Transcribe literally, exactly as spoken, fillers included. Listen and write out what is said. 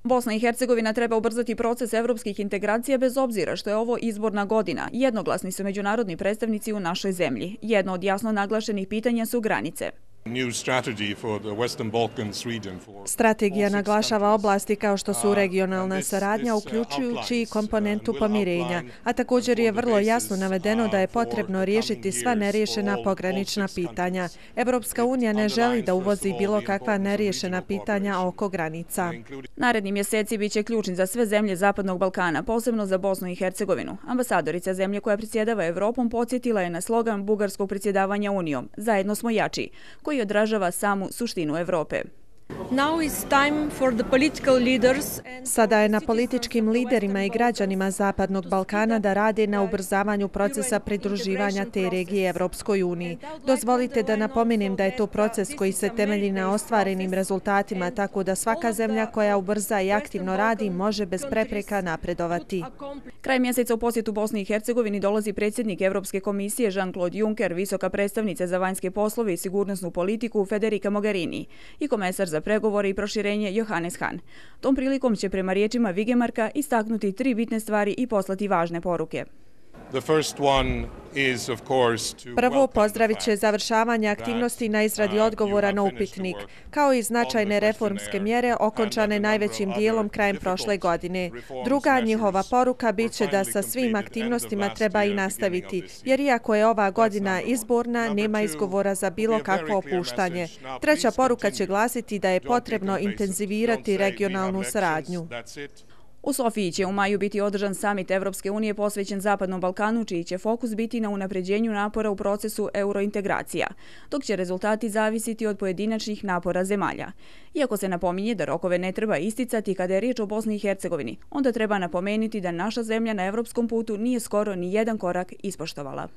Bosna i Hercegovina treba ubrzati proces evropskih integracija bez obzira što je ovo izborna godina. Jednoglasni su međunarodni predstavnici u našoj zemlji. Jedno od jasno naglašenih pitanja su granice. Strategija naglašava oblasti kao što su regionalna saradnja, uključujući i komponentu pomirenja, a također je vrlo jasno navedeno da je potrebno riješiti sva neriješena pogranična pitanja. Evropska unija ne želi da uvozi bilo kakva neriješena pitanja oko granica. Naredni mjeseci biće ključni za sve zemlje Zapadnog Balkana, posebno za Bosnu i Hercegovinu. Ambasadorica zemlje koja predsjedava Evropom podsjetila je na slogan bugarskog predsjedavanja Unijom "Zajedno smo jači", koji odražava samu suštinu Evrope. Sada je na političkim liderima i građanima Zapadnog Balkana da rade na ubrzavanju procesa pridruživanja te regije Evropskoj uniji. Dozvolite da napomenem da je to proces koji se temelji na ostvarenim rezultatima, tako da svaka zemlja koja ubrza i aktivno radi može bez prepreka napredovati. Kraj mjeseca u posjetu Bosni i Hercegovini dolazi predsjednik Evropske komisije Jean-Claude Juncker, visoka predstavnica za vanjske poslove i sigurnosnu politiku Federica Mogherini i komesar za pregovore i proširenje Johannes Hahn. Tom prilikom će prema riječima Vigemarka istaknuti tri bitne stvari i poslati važne poruke. Prvo, pozdravit će završavanje aktivnosti na izradi odgovora na upitnik, kao i značajne reformske mjere okončane najvećim dijelom krajem prošle godine. Druga njihova poruka bit će da sa svim aktivnostima treba i nastaviti, jer iako je ova godina izborna, nema izgovora za bilo kakvo opuštanje. Treća poruka će glasiti da je potrebno intenzivirati regionalnu saradnju. U Sofiji će u maju biti održan samit Evropske unije posvećen Zapadnom Balkanu, čiji će fokus biti na unapređenju napora u procesu eurointegracija, dok će rezultati zavisiti od pojedinačnih napora zemalja. Iako se napominje da rokove ne treba isticati kada je riječ o Bosni i Hercegovini, onda treba napomenuti da naša zemlja na evropskom putu nije skoro ni jedan korak ispoštovala.